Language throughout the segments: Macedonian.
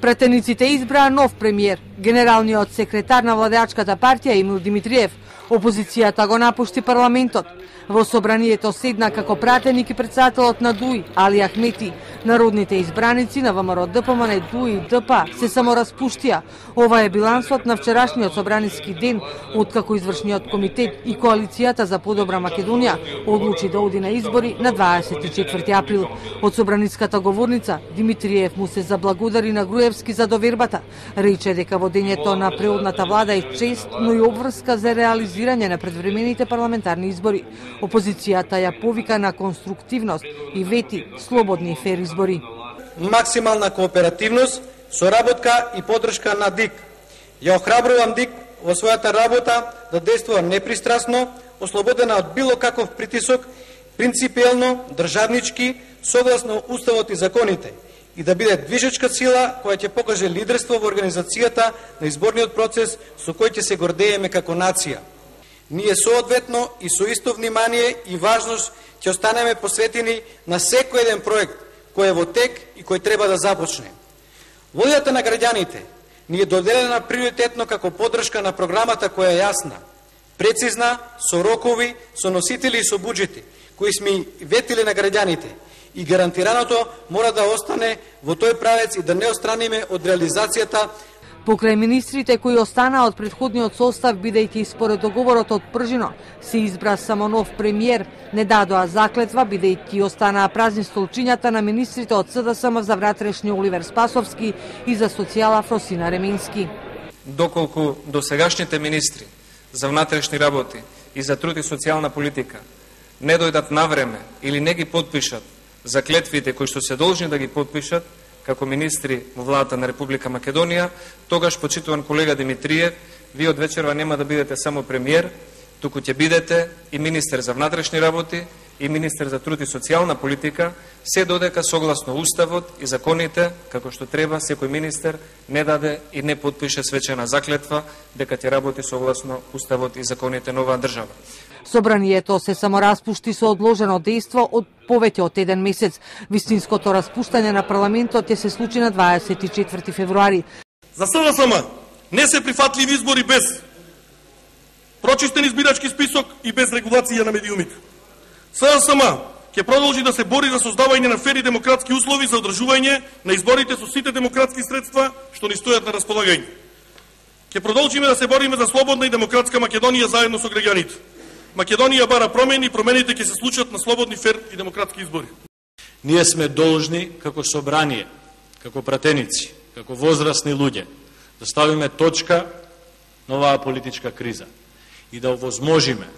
Пратениците избраа нов премиер, генералниот секретар на владеачката партија Емил Димитриев. Опозицијата го напушти парламентот. Во собранието седна како пратеник и претседателот на ДУИ, Али Ахмети. Народните избраници на ВМРО ДПМН, ДУИ и ДП се само распуштија. Ова е билансот на вчерашниот собраниски ден, откако извршниот комитет и коалицијата за подобра Македонија одлучи да оди на избори на 24 април. Од собраниската говорница Димитриев му се заблагодари на Груевски за довербата. Рече дека водењето на преодната влада е чест, но и обврска за реализирање на предвремените парламентарни избори. Опозицијата ја повика на конструктивност и вети слободни и фер избори. Максимална кооперативност, соработка и поддршка на ДИК. Ја охрабрувам ДИК во својата работа да действува непристрасно, ослободена од било каков притисок, принципиелно, државнички, согласно уставот и законите, и да биде движечка сила која ќе покаже лидерство во организацијата на изборниот процес со кој ќе се гордееме како нација. Ние соодветно и со исто внимание и важност ќе останеме посветени на секој еден проект кој е во тек и кој треба да започне. Волјата на граѓаните ни е доделена приоритетно како поддршка на програмата која е јасна, прецизна, со рокови, со носители и со буџети, кои сме ветили на граѓаните, и гарантираното мора да остане во тој правец и да не остраниме од реализацијата. Покрај министрите кои останаа од претходниот состав, бидејќи според договорот од Пржино се избра само нов премиер, не дадоа заклетва, бидејќи останаа празни столчињата на министрите од СДСМ за внатрешни Оливер Спасовски и за социјала Фросина Ременски. Доколку досегашните министри за внатрешни работи и за труд и социјална политика не дојдат на време или не ги подпишат заклетвите кои што се должни да ги подпишат како министри во владата на Република Македонија, тогаш, почитуван колега Димитриев, вие од вечерва нема да бидете само премиер, туку ќе бидете и министер за внатрешни работи и министер за труд и социјална политика, се додека согласно уставот и законите, како што треба, секој министер не даде и не подпише свечена заклетва дека ќе работи согласно уставот и законите на оваа држава. Собранието се само распушти со одложено дејство од повеќе од еден месец. Вистинското распуштање на парламентот ќе се случи на 24 февруари. За СДСМ не се прифатливи избори без прочистен избирачки список и без регулација на медиумите. СДСМ ќе продолжи да се бори за создавање на фер и демократски услови за одржување на изборите со сите демократски средства што ни стојат на располагање. Ќе продолжиме да се бориме за слободна и демократска Македонија заедно со граѓаните. Македонија бара промени, промените ќе се случат на слободни, фер и демократски избори. Ние сме должни како собрание, како пратеници, како возрастни луѓе да ставиме точка на оваа политичка криза и да овозможиме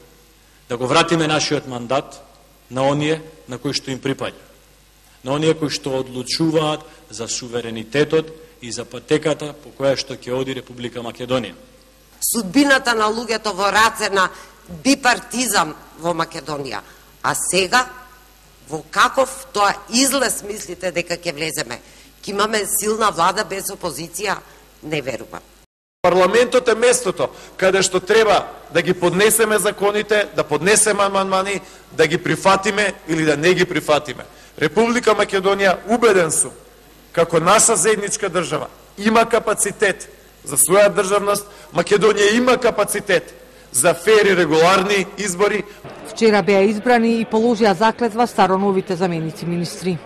да го вратиме нашиот мандат на оние на кои што им припаѓа, на оние кои што одлучуваат за суверенитетот и за патеката по која што ќе оди Република Македонија. Судбината на луѓето во раце на бипартизам во Македонија. А сега, во каков тоа излез мислите дека ќе влеземе? Ќе имаме силна влада без опозиција? Не верувам. Парламентот е местото каде што треба да ги поднесеме законите, да поднесеме амандмани, да ги прифатиме или да не ги прифатиме. Република Македонија, убеден сум, како наша заедничка држава, има капацитет за своја државност. Македонија има капацитет за фер и регуларни избори. Вчера беа избрани и положија заклетва староновите заменици министри.